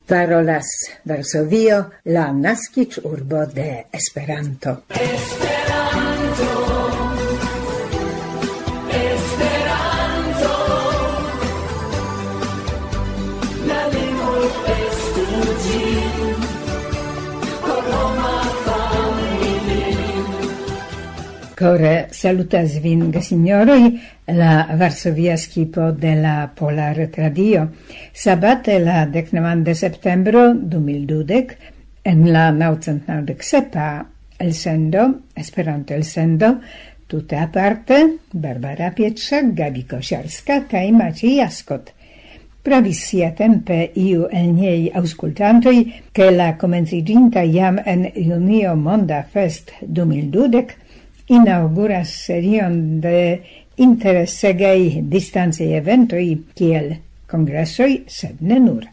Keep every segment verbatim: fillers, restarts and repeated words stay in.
Parolas Varsovio, la naskiĝurbo de Esperanto. Kore salutas vin, gesinjoroj, la Varsovia skipo de la Pola Retradio. Sabate, la deknaŭan de septembro du mil dudek, en la naŭcent naŭdek sepa elsendo, Esperanto-elsendo, tute aparte, Barbara Pietrza, Gabi Kosiarska kaj Maciej Jaskot. Pravis siatempe iu el niaj aŭskultantoj, ke la komenciĝinta jam en junio Monda Fest du mil dudek inaŭguras serion de interesegaj distancaj eventoj kiel kongresoj, sed ne nur.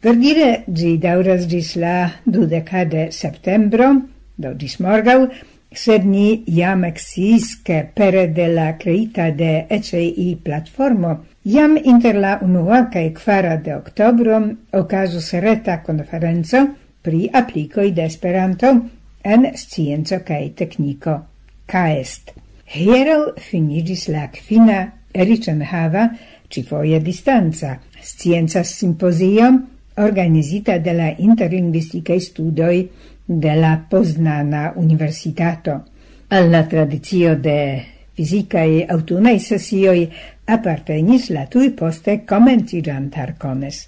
Verdire ĝi daŭras ĝis la dudeka de septembro, do ĝis morgaŭ, sed ni jam eksciis, ke pere de la kreita de E C I platformo, jam inter la unua kaj kvara de oktobro okazos reta konferenco pri aplikoj de Esperanto en scienco kaj tekniko, kaest. Hieraŭ finiĝis la kvina riĉenhava, ĉifoje distanca, scienca simpozio organizita de la interlingvistikaj studoj de la Poznana Universitato. Al la tradicio de fizikaj aŭtunaj sesioj apartenis la tuj poste komenciĝanta Arcones.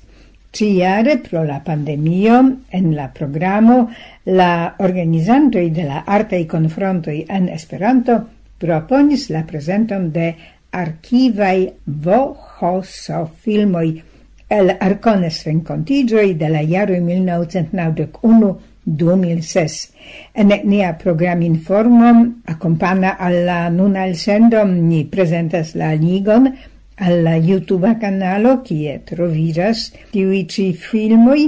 Ĉijare pro la pandemio en la programo la organizantoj de la artaj konfrontoj en Esperanto proponis la prezenton de arkivaj V H S filmoj el Arcones renkontiĝoj de la jaroj mil naŭcent naŭdek unu du mil ses. En nia programinformo akompana al la nuna elsendo ni prezentas la ligon al la YouTube kanalo, kie troviĝas tiuj ĉi filmoj,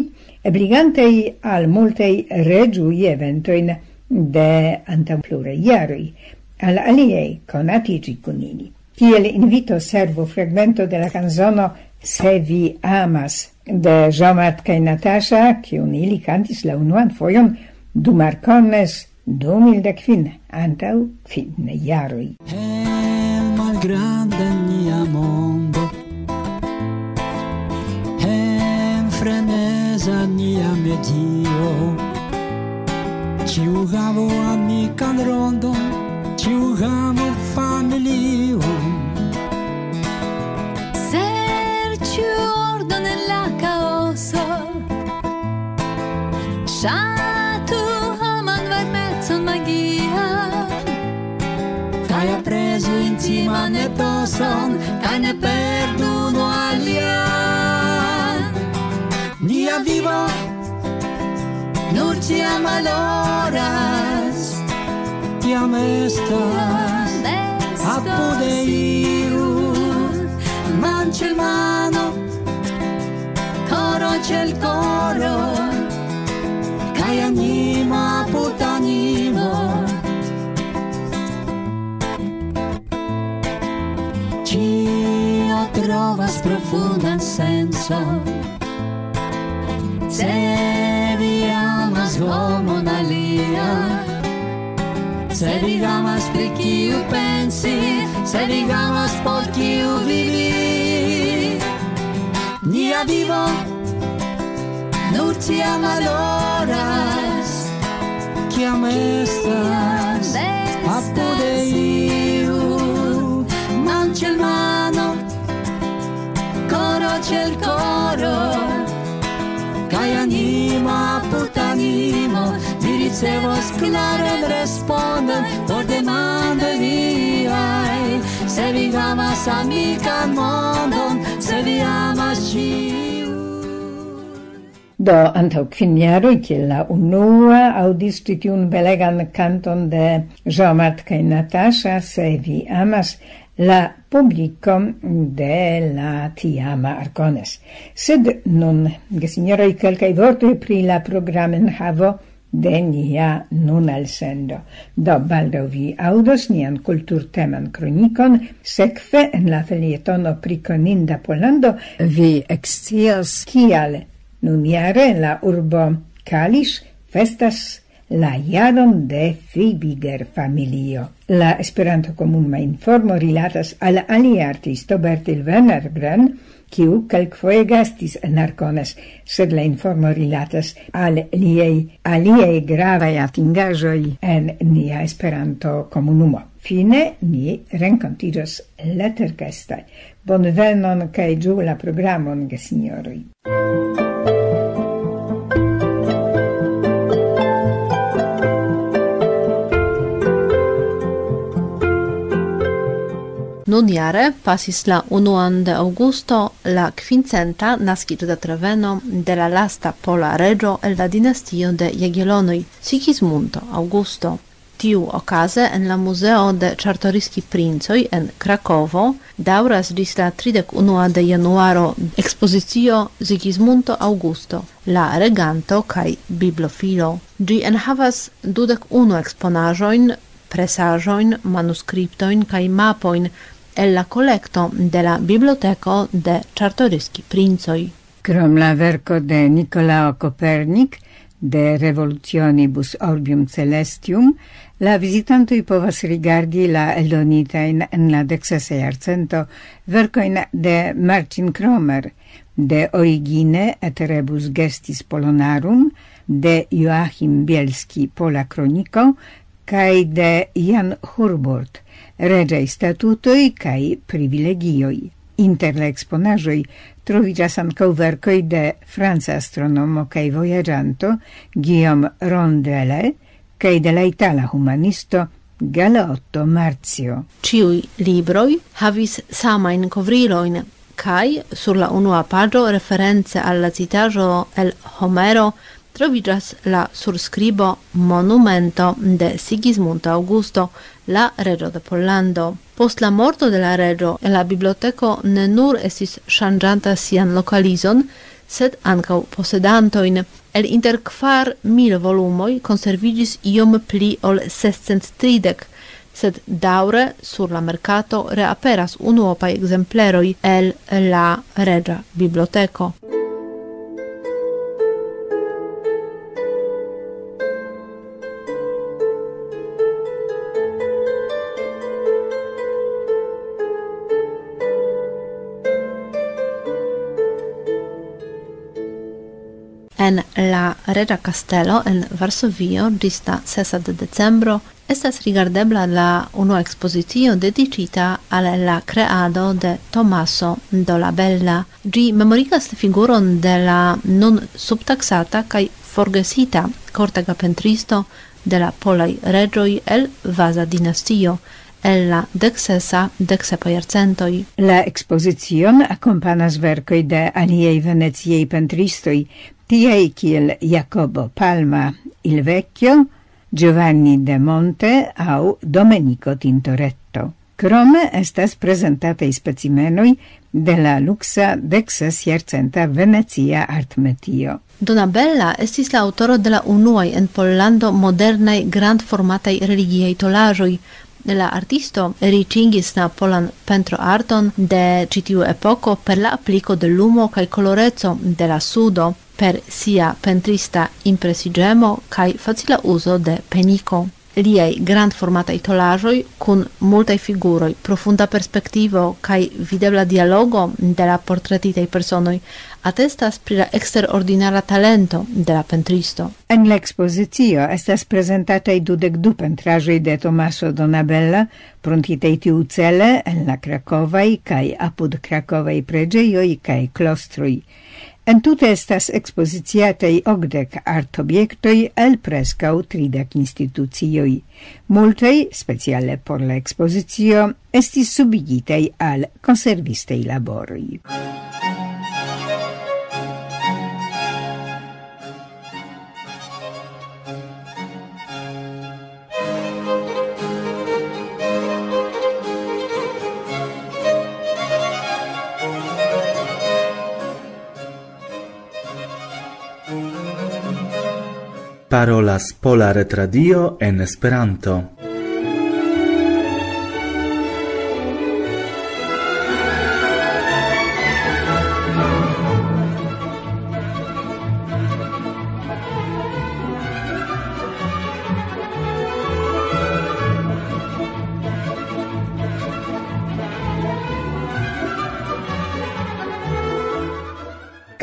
ebligantej al multaj reĝuj eventojn de antaŭ pluraj jaroj. Al aliaj konatiĝi kun ili. Kiel invito servu fragmento de la kanzono Se vi amas de Jean-Marc kaj Natasha, kiun ili kantis la unuan fojon dum Arcones du mil dek kvin, antaŭ kvin jaroj. En malgranda nia mondo, en freneza nia medio, ĉiu havu amikan rondon, ĉiu havu familion. Serĉu ordon en la kaoso, ŝatu homan varmecon magian, kaj aprezu intiman etoson, kaj ne perdu unu alian. Nia vivo nur tiam valoras, kiam estas apude iu, man ĉe l' mano, koro ĉe l' koro, kaj animo apud animo. Ĉio trovas profundan sencon. Se vi amas homon alian, se vi havas pri kiu pensi, se vi havas por kiu vivi, nia vivo nur tiam valoras, kiam estas apude iu, man ĉe l' mano, koro ĉe l' koro, kaj animo apud animo, vi ricevos klaran respondon por demandoj viaj. Se vi havas amikan mondon, se vi amas ĉiu. Do, antaŭ kvin jaroj, kiel la unua aŭdis ĉi tiun belegan kanton de Jean-Marc kaj Natasha, Se vi amas, la publiko de la tiama Arcones. Sed nun, gesinjoroj, kelkaj vortoj pri la programenhavo de nia nuna elsendo. Do, baldaŭ vi aŭdos nian kulturteman kronikon. Sekve, en la felietono pri koninda Polando, vi ekscios, kial Nunjare la urbo Kalisz festas la jaron de Fibiger familio. La Esperanto-komunuma informo rilatas al alia artisto, Bertil Wennergren, kiu kelkfoje gastis en Arcones, sed la informo rilatas al liaj aliaj gravaj atingaĵoj en nia Esperanto-komunumo. Fine ni renkontiĝos leterkeste. Bonvenon kaj ĝuu la programon, gesinjoroj. Nunjare pasis la unuan de aŭgusto la kvincenta naskiĝdata reveno de la lasta pola reĝo el la dinastio de Jagiellonoj, Sigismundo Augusto. Tiuokaze en la Muzeo de Czartoryskij Princoj en Krakovo daŭras ĝis la tridek unua de januaro ekspozicio Sigismundo Augusto, la reganto kaj bibliofilo. Ĝi enhavas dudek unu eksponaĵojn, presaĵojn, manuskriptojn kaj mapojn el la kolekto de la Biblioteko de Czartoryskij Princoj. Krom la verko de Nikolao Kopernik, De Revolutionibus Orbium Celestium, la vizitantoj povas rigardi la eldonitajn en la deksesa jarcento verkojn de Marcin Cromer, De Origine et Rebus Gestis Polonarum, de Joachim Bielski, Pola Kroniko, kaj de Jan Hurburg, Reĝaj statutoj kaj privilegioj. Inter la eksponaĵoj troviĝas ankaŭ verkoj de franca astronomo kaj vojaĝanto Guillaume Rondelet kaj de la itala humanisto Galeotto Marzio. Ĉiuj libroj havis samajn kovrilojn, kaj sur la unua paĝo, reference al la citaĵo el Homero, troviĝas la surskribo Monumento de Sigismundo Augusto, la reĝo de Pollando. Post la morto de la reĝo, la biblioteko ne nur estis ŝanĝanta sian lokalizon, sed ankaŭ posedantojn. El inter kvar mil volumoj konserviĝis iom pli ol sescent tridek, sed daŭre sur la merkato reaperas unuopaj ekzempleroj el la reĝa biblioteko. En la Reĝa Kastelo en Varsovio ĝis la sesa de decembro estas rigardebla la unua ekspozicio dediĉita al la kreado de Tomaso Dolabella. Ĝi memorigas la figuron de la nun subtaksata kaj forgesita kortega pentristo de la polaj reĝoj el Vaza dinastio, el la deksesa, deksepa jarcentoj. La ekspozicion akompanas verkoj de aliaj veneciaj pentristoj, tiaj kiel Jacobo Palma, Il Vecchio, Giovanni de Monte aŭ Domenico Tintoretto. Krome estas prezentataj specimenoj de la luksa deksesjarcenta venecia artmetio. Donabella estis la aŭtoro de la unuaj en Pollando modernaj grandformataj religiaj tolaĵoj. La artisto riĉigis la polan pentroarton de ĉi tiu epoko per la apliko de lumo kaj koloreco de la sudo, per sia pentrista impresiĝemo kaj facila uzo de peniko. Liaj grandformataj tolaĵoj kun multaj figuroj, profunda perspektivo kaj videbla dialogo de la portretitaj personoj atestas pri la eksterordinara talento de la pentristo. En la ekspozicio estas prezentataj dudek du pentraĵoj de Tomaso Donabella, pruntitaj tiucele en la krakovaj kaj apud krakovaj preĝejoj kaj klostroj. Entute estas ekspoziciataj okdek artobjektoj el preskaŭ tridek institucioj. Multaj, speciale por la ekspozicio, estis subigitaj al konservistaj laboroj. Parolas Pola Retradio en Esperanto.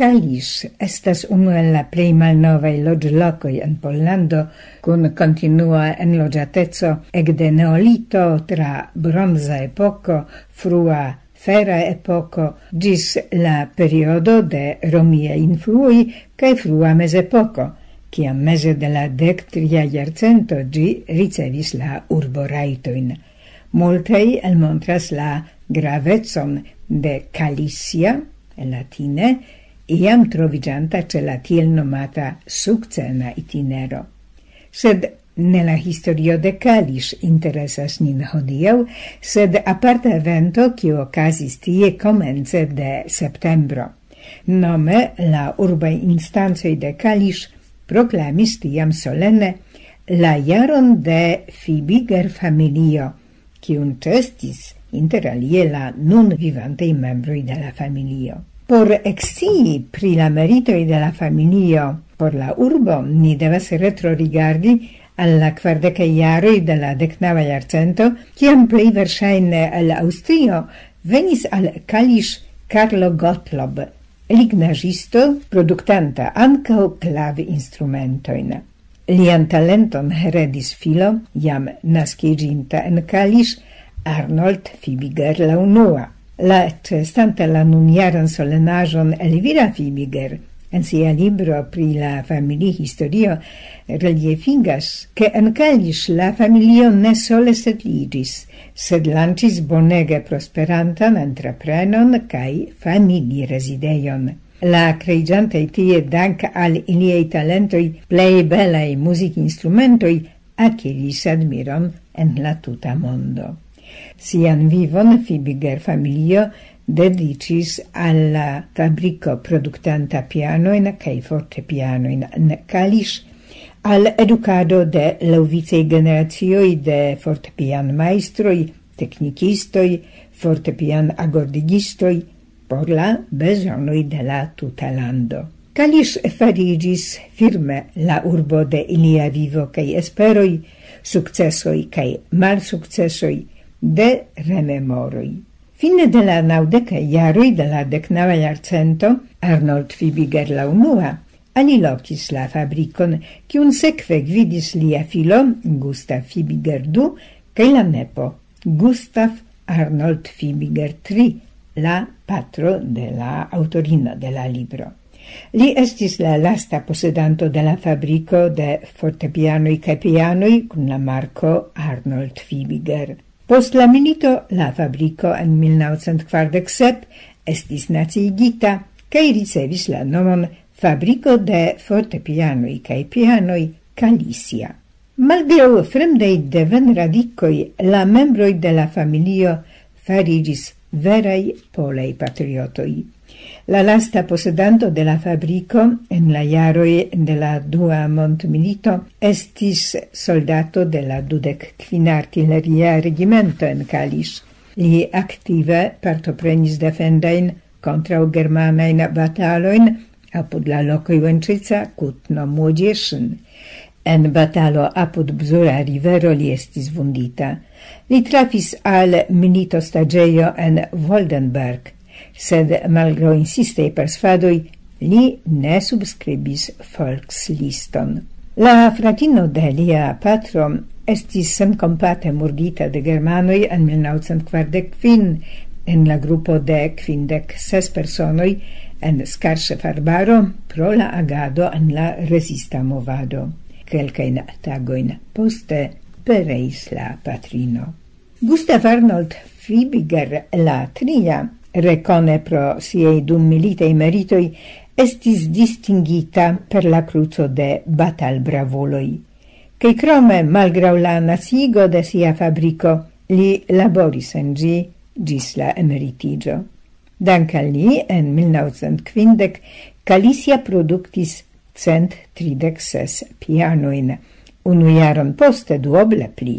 Kalisz estas unu el la plej malnovaj loĝlokoj en Pollando, kun kontinua enloĝateco ekde neolito tra bronza epoko, frua fera epoko, ĝis la periodo de romia influoj kaj frua mezepoko, kiam meze de la dek tria jarcento ĝi ricevis la urborajtojn. Multaj elmontras la gravecon de Kalisia, latine, iam troviĝanta ĉe la tiel nomata sukcena itinero. Sed ne la historio de Kalisz interesas nin hodiaŭ, sed aparta evento, kiu okazis tie komence de septembro. Nome la urbaj instancoj de Kalisz proklamis tiam solene la jaron de Fibiger familio, kiun ĉestis inter alie la nun vivantaj membroj de la familio. Por ekscii pri la meritoj de la familio por la urbo, ni devas retrorigardi al la kvardekaj jaroj de la deknava jarcento, kiam plej verŝajne el Aŭstrio venis al Kalisz Carlo Gottlob, lignaĵisto, produktanta ankaŭ klavinstrumentojn. Lian talenton heredis filo, jam naskiĝinta en Kalisz, Arnold Fibiger la unua. La, ĉeestanta la nunjaran solenaĵon, Elvira Fibiger en sia libro pri la familihistorio reliefigas, ke en Kalisz la familio ne sole setliĝis, sed lanĉis bonege prosperantan entreprenon kaj familirezidejon. La kreiĝantoj tie, dank al iliaj talentoj, plej belaj muzikinstrumentoj akiris admiron en la tuta mondo. Sian vivon Fibiger familio dediĉis al la fabriko produktanta pianojn kaj fortepianojn en Kalisz, al edukado de laŭvicaj generacioj de fortepianmajstroj, teknikistoj, fortepianagordigistoj, por la bezonoj de la tuta lando. Kalisz fariĝis firme la urbo de ilia vivo kaj esperoj, sukcesoj kaj malsukcesoj, de rememoroj. Fine de la naŭdekaj jaroj de la deknava jarcento, Arnold Fibiger la unua alilokis la fabrikon, kiun sekve gvidis lia filo, Gustav Fibiger du, kaj la nepo, Gustav Arnold Fibiger tri, la patro de la aŭtorino de la libro. Li estis la lasta posedanto de la fabriko de fortepianoj kaj pianoj kun la marko Arnold Fibiger. Post la milito la fabriko en mil naŭcent kvardek sep estis naciigita kaj ricevis la nomon Fabriko de Fortepianoj kaj Pianoj Kalisia. Malgraŭ fremdaj devenradikoj, la membroj de la familio fariĝis veraj polaj patriotoj. La lasta posedanto de la fabriko en la jaroj de la Dua Mondmilito estis soldato de la dudek kvina artileria regimento en Kalisz. Li aktive partoprenis defendajn kontraŭ germanajn batalojn apud la lokoj Łęczyca, Kutno, Młodzieszyn. En batalo apud Bzura rivero li estis vundita. Li trafis al militostaĝejo en Woldenberg, sed malgraŭ insistaj persvadoj li ne subskribis Volksliston. La fratino de lia patro estis senkompate murdita de germanoj en mil naŭcent kvardek kvin en la grupo de kvindek ses personoj en Skarŝef-Arbaro pro la agado en la rezista movado. Kelkajn tagojn poste pereis la patrino. Gustav Arnold Fibiger la tria, rekone pro siaj dummilitaj meritoj, estis distingita per la kruco de batalbravuloj. Kaj krome, malgraŭ la naciigo de sia fabriko, li laboris en ĝi ĝis la emeritiĝo. Dank al li, en mil naŭcent kvindek Kalisia produktis cent tridek ses pianojn. Unu jaron poste duoble pli,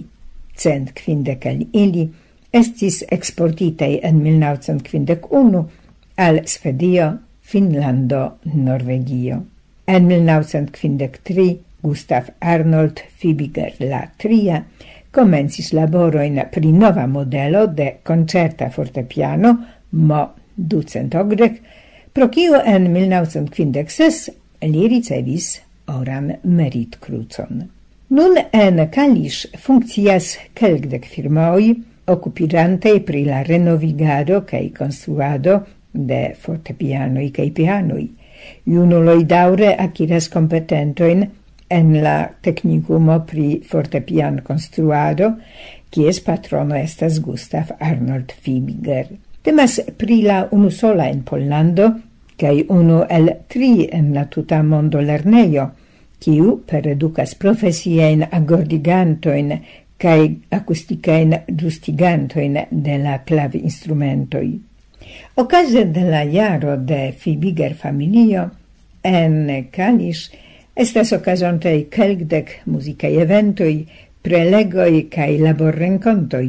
cent kvindek el ili estis eksportitaj en mil naŭcent kvindek unu al Svedio, Finnlando, Norvegio. En mil naŭcent kvindek tri Gustav Arnold Fibiger la tria komencis laborojn pri nova modelo de koncerta fortepiano Mo ducent okdek, Pro kio en mil naŭcent kvindek ses li ricevis oran meritkrucon. Nun en Kalisz funkcias kelkdek firmaoj okupiĝantaj pri la renovigado kaj konstruado de fortepianoj kaj pianoj. Junuloj daŭre akiras kompetentojn en la teknikumo pri fortepiankonstruado, kies patrono estas Gustav Arnold Fibiger. Temas pri la unusola en Pollando kaj unu el tri en la tuta mondo lernejo, kiu peredukas profesiajn agordigantojn kaj akustikajn ĝustigantojn de la klavinstrumentoj. Okaze de la jaro de Fibiger familio en Kalisz estas okazontaj kelkdek muzikaj eventoj, prelegoj kaj laborrenkontoj,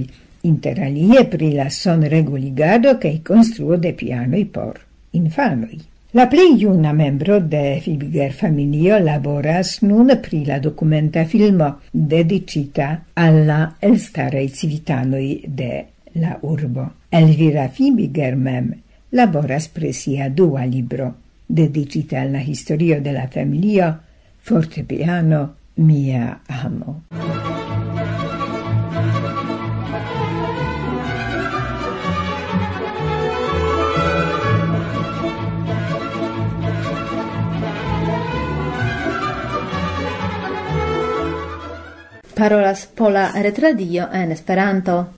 inter alie pri la sonreguligado kaj konstruo de pianoj por infanoj. La plej juna membro de Fibiger familio laboras nun pri la dokumenta filmo dediĉita al la elstaraj civitanoj de la urbo. Elvira Fibiger mem laboras pri sia dua libro, dediĉita al la historio de la familio, fortepiano, mia amo. Parolas Pola Retradio en Esperanto.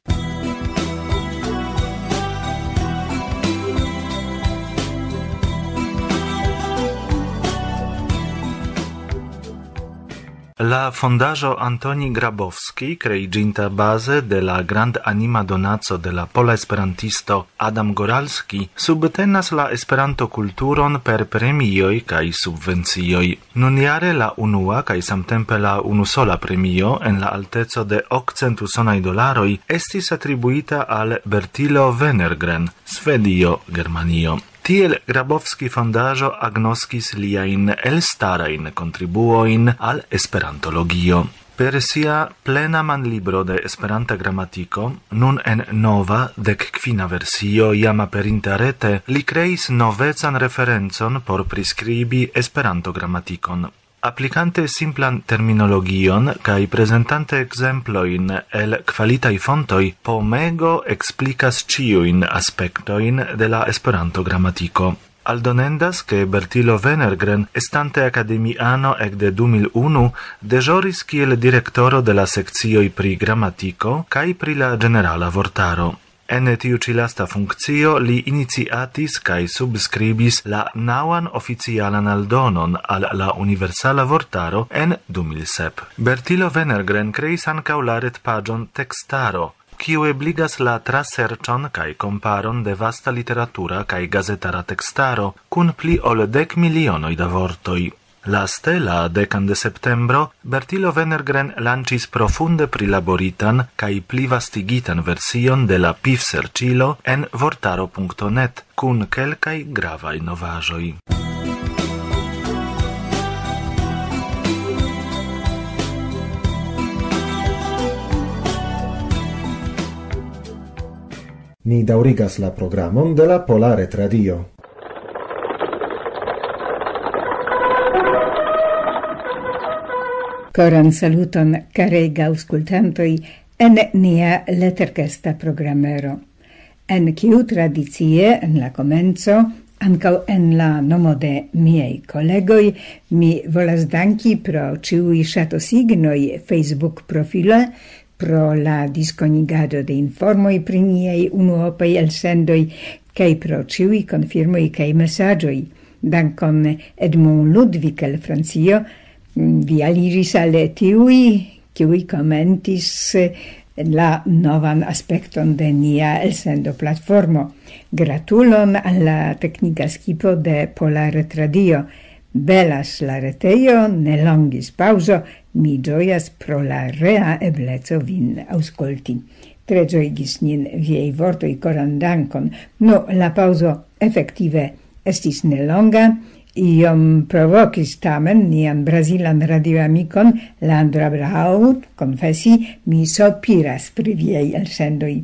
La fondaĵo Antoni Grabowski, kreiĝinta baze de la grandanima donaco de la pola esperantisto Adam Goralski, subtenas la Esperanto-kulturon per premioj kaj subvencioj. Nunjare la unua kaj samtempe la unusola premio en la alteco de okcent usonaj dolaroj estis atribuita al Bertilo Wennergren, Svedio, Germanio. Tiel Grabowski fondaĵo agnoskis liajn elstarajn kontribuojn al esperantologio. Per sia plena manlibro de Esperanta gramatiko, nun en nova, dek kvina versio, jam aperinta rete, li kreis novecan referencon por priskribi Esperanto-gramatikon. Aplikante simplan terminologion kaj prezentante ekzemplojn el kvalitaj fontoj, Pomego eksplikas ĉiujn aspektojn de la Esperanto-gramatiko. Aldonendas, ke Bertilo Wennergren, estante akademiano ekde du mil unu, deĵoris kiel direktoro de la sekcioj pri gramatiko kaj pri la ĝenerala vortaro. En tiu ĉi lasta funkcio li iniciatis kaj subskribis la naŭan oficialan aldonon al la Universala Vortaro en du mil sep. Bertilo Wennergren kreis ankaŭ la retpaĝon Tekstaro, kiu ebligas la traserĉon kaj komparon de vasta literatura kaj gazetara tekstaro kun pli ol dek milionoj da vortoj. Laste, la dekan de septembro, Bertilo Wennergren lanĉis profunde prilaboritan kaj plivastigitan version de la pivserĉilo en vortaro punkto net kun kelkaj gravaj novaĵoj. Ni daŭrigas la programon de la Pola Retradio. Koran saluton, karega aŭskultantoj, en nia leterkesta programero, en kiu tradicie en la komenco, ankaŭ en la nomo de miaj kolegoj, mi volas danki pro ĉiuj ŝatosignoj Facebook-profile, pro la diskonigado de informoj pri niaj unuopaj elsendoj, kaj pro ĉiuj konfirmoj kaj mesaĝoj. Dankon, Edmond Ludwig el Francio, vi aliĝis al tiuj, kiuj komentis la novan aspekton de nia elsendo-platformo. Gratulon al la teknika skipo de Pola Retradio. Belas la retejo, ne longis paŭzo, mi ĝojas pro la rea ebleco vin aŭskulti. Tre ĝojigis nin viaj vortoj, koran dankon. Nu, la paŭzo efektive estis nelonga, iom provokis tamen nian brazilan radioamikon Leandro Abrahau konfesi, mi sopiras pri viaj elsendoj.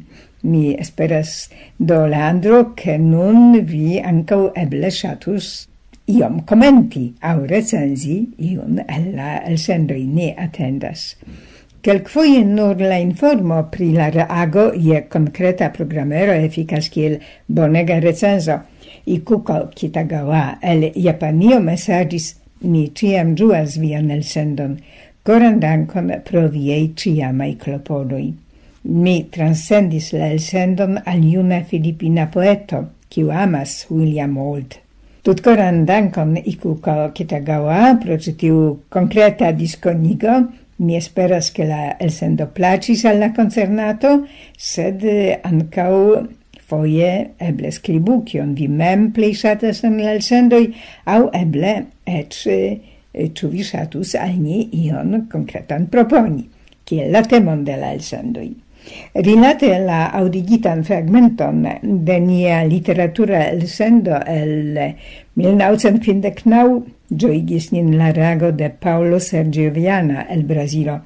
Mi esperas, do, Leandro, ke nun vi ankaŭ eble ŝatus iom komenti aŭ recenzi iun el la elsendoj. Ni atendas. Kelkfoje nur la informo pri la reago je konkreta programero efikas kiel bonega recenzo. Ikuko Kitagawa el Japanio mesaĝis: "Mi ĉiam ĝuas vian elsendon. Koran dankon pro viaj ĉiamaj klopodoj." Mi transcendis la elsendon al juna filipina poeto, kiu amas William Old. Tutkoran dankon, Ikuko Kitagawa, pro ĉi tiu konkreta diskonigo. Mi esperas, ke la elsendo plaĉis al la koncernato, sed, eh, ankaŭ foje eble skribu, kion vi mem plej ŝatas en la elsendoj, aŭ eble eĉ, eh, ĉu vi ŝatus al ni ion konkretan proponi, kiel la temon de la elsendoj. Rilate la aŭdigitan fragmenton de nia literatura elsendo el mil naŭcent kvindek naŭ, ĝojigis nin la reago de Paolo Sergio Viana el Brazilo.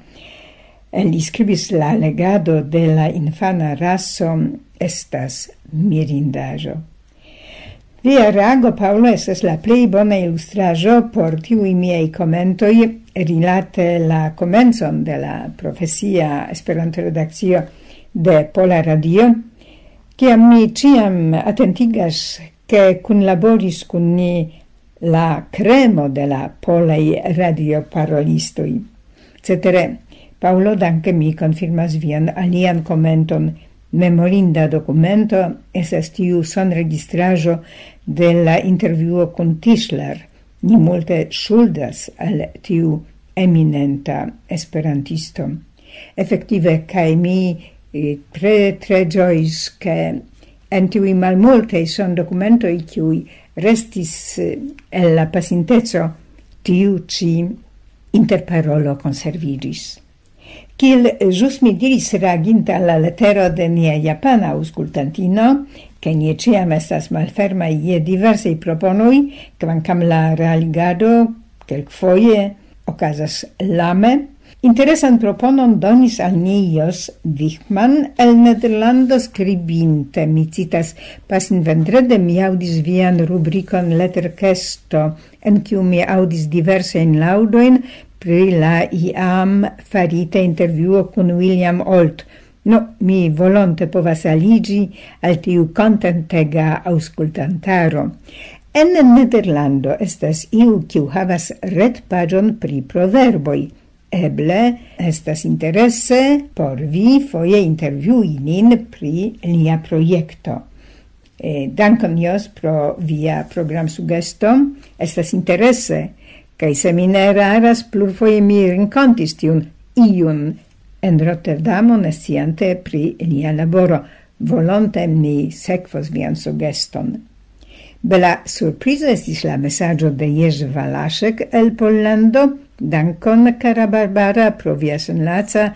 Li skribis: "La legado de la infana raso estas mirindaĵo." Via reago, Paolo, estas la plej bona ilustraĵo por tiuj miaj komentoj rilate la komencon de la profesia Esperanto-redakcio de Pola Radio, kiam mi ĉiam atentigas, ke kunlaboris kun ni la kremo de la polaj radioparolistoj. Cetere, Paolo, danke, mi konfirmas vian alian komenton. Memorinda dokumento estas tiu sonregistraĵo de la intervjuo kun Tischler. Ni multe ŝuldas al tiu eminenta esperantisto. Efektive, kaj mi, eh, tre, tre ĝojis, ke en tiuj malmultaj sondokumentoj, kiuj restis, eh, el la pasinteco, tiu ĉi interparolo konserviĝis. Kiel ĵus mi diris, reaginta al la letero de nia japana aŭskultantino, ke ni ĉiam estas malfermaj je diversaj proponoj, kvankam la realigado kelkfoje okazas lame, interesan proponon donis al ni Jos Wichmann el Nederlando, skribinte, mi citas: "Pasinvendrede mi aŭdis vian rubrikon Letterkesto, en kiu mi aŭdis diversajn laŭdojn pri la iam farita intervjuo kun William Olt. No, mi volonte povas aliĝi al tiu kontentega aŭskultantaro." En Nederlando estas iu, kiu havas retpaĝon pri proverboj. Eble estas interese por vi foje intervjui nin pri lia projekto. Eh, dankon, Jos, pro via programsugesto. Estas interese, kaj se mi ne eraras, plurfoje mi renkontis tiun iun en Rotterdamo, nesciante pri lia laboro. Volonte mi sekvos vian sugeston. Bela surprizo estis la mesaĝo de Jerzy Walaszek el Pollando. Dankon, kara Barbara, pro via senlaca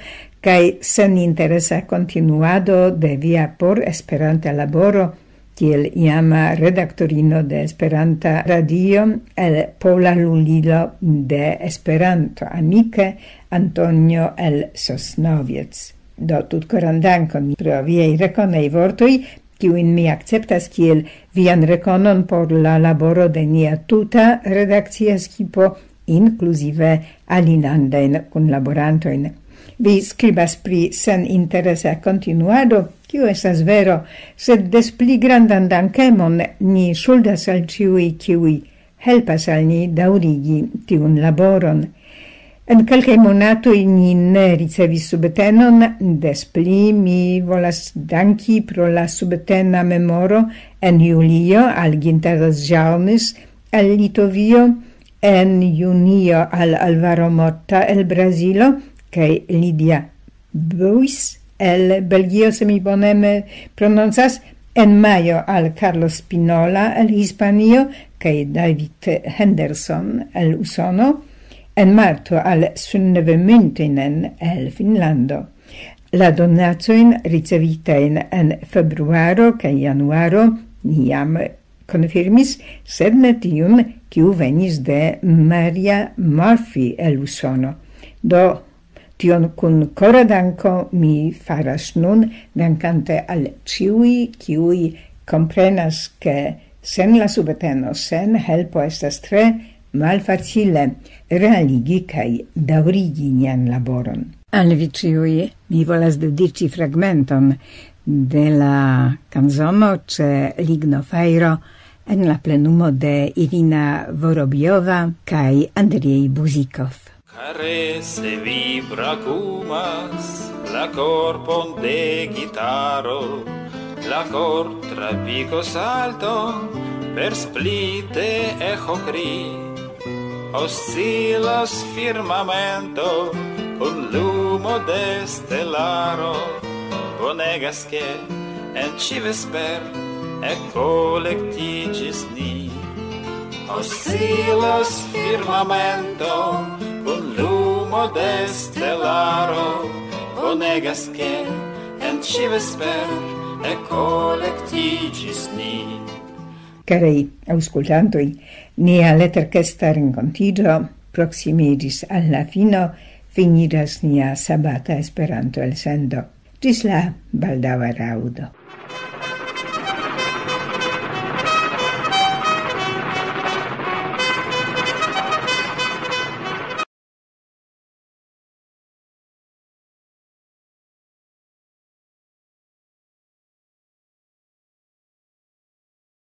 kaj seninteresa kontinuado de via por Esperanta laboro kiel iama redaktorino de Esperanta Radio el Pola Lulilo de Esperanto, amike Antonio el Sosnoviec. Do, tutkoran dankon pro viaj rekonaj vortoj, kiujn mi akceptas kiel vian rekonon por la laboro de nia tuta redakcia skipo, inkluzive alilandajn kunlaborantojn. Vi skribas pri seninteresa kontinuado, kio estas vero, sed des pli grandan dankemon ni ŝuldas al ĉiuj, kiuj helpas al ni daŭrigi tiun laboron. En kelkaj monatoj ni ne ricevis subtenon, des pli mi volas danki pro la subtena memoro en julio al Ginter Ĵaŭnis el Litovio, en junio al Alvaro Motta el Brazilo kaj Lidia Buis el Belgio, se mi boneme prononcas, en majo al Carlos Spinola el Hispanio kaj David Henderson el Usono, en marto al Sunneve Mintinen el Finnlando. La donacojn ricevitajn en februaro kaj januaro ni jam konfirmis, sed ne tiun, kiu venis de Maria Murphy el Usono. Do, Tion kun kora danko mi faras nun, dankante al ĉiuj, kiuj komprenas, ke sen la subteno, sen helpo estas tre malfacile realigi kaj daŭrigi nian laboron. Al vi ĉiuj mi volas dediĉi fragmenton de la kanzono ĉe Ligno Fajro en la plenumo de Irina Vorobiova kaj Andriej Buzikov. Caresse vi brakumas la korpon de gitaro, la kor trapiko salton per splite echo kri. Oscilas firmamento kun lumo de stelaro, bonegas ke en ĉi vesper ekkolektiĝis ni. Oscilas firmamento kun lumo de stelaro, bonegas ke en ĉi vesper ekkolektiĝis ni. Karaj aŭskultantoj, nia leterkesta renkontiĝo proksimiĝis al la fino, finiĝas nia sabata Esperanto-elsendo. Ĝis la baldaŭa raŭdo.